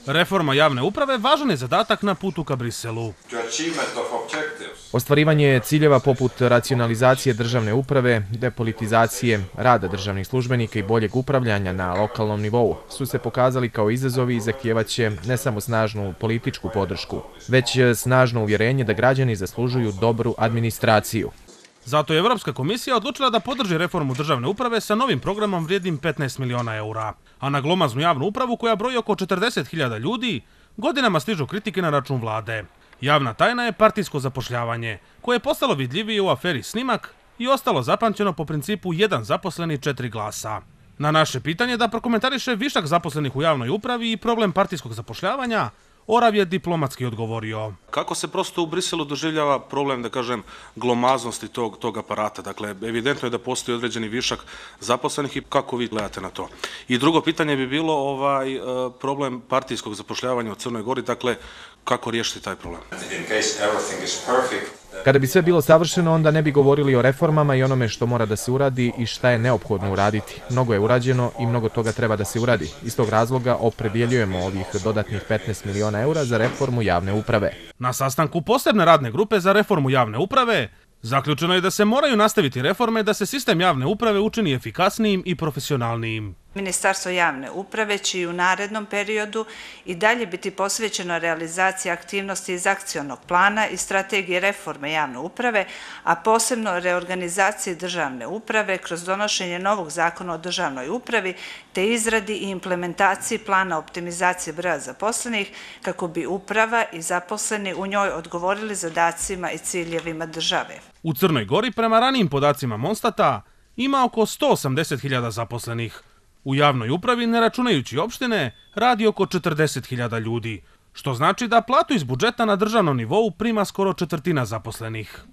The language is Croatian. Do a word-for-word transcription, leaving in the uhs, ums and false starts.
Reforma javne uprave važan je zadatak na putu ka Briselu. Ostvarivanje ciljeva poput racionalizacije državne uprave, depolitizacije, rada državnih službenika i boljeg upravljanja na lokalnom nivou su se pokazali kao izazovi i zahtijevaće ne samo snažnu političku podršku, već snažno uvjerenje da građani zaslužuju dobru administraciju. Zato je Evropska komisija odlučila da podrži reformu državne uprave sa novim programom vrijednim petnaest miliona eura. A na glomaznu javnu upravu koja broji oko četrdeset hiljada ljudi, godinama stižu kritike na račun vlade. Javna tajna je partijsko zapošljavanje, koje je postalo vidljivije u aferi Snimak i ostalo zapamćeno po principu jedan zaposleni četiri glasa. Na naše pitanje da prokomentariše višak zaposlenih u javnoj upravi i problem partijskog zapošljavanja, Orav je diplomatski odgovorio. Kako se prosto u Briselu doživljava problem, da kažem, glomaznosti tog, tog aparata? Dakle, evidentno je da postoji određeni višak zaposlenih i kako vi gledate na to? I drugo pitanje bi bilo ovaj problem partijskog zapošljavanja u Crnoj Gori, dakle, kako riješiti taj problem? Kada bi sve bilo savršeno, onda ne bi govorili o reformama i onome što mora da se uradi i šta je neophodno uraditi. Mnogo je urađeno i mnogo toga treba da se uradi. Iz tog razloga opredjeljujemo ovih dodatnih petnaest miliona eura za reformu javne uprave. Na sastanku posebne radne grupe za reformu javne uprave zaključeno je da se moraju nastaviti reforme da se sistem javne uprave učini efikasnijim i profesionalnijim. Ministarstvo javne uprave će i u narednom periodu i dalje biti posvećeno realizaciji aktivnosti iz akcionog plana i strategije reforme javne uprave, a posebno reorganizaciji državne uprave kroz donošenje novog zakona o državnoj upravi te izradi i implementaciji plana optimizacije broja zaposlenih kako bi uprava i zaposleni u njoj odgovorili zadacima i ciljevima države. U Crnoj Gori, prema ranijim podacima Monstata, ima oko sto osamdeset hiljada zaposlenih. U javnoj upravi, ne računajući opštine, radi oko četrdeset hiljada ljudi, što znači da platu iz budžeta na državnom nivou prima skoro četvrtina zaposlenih.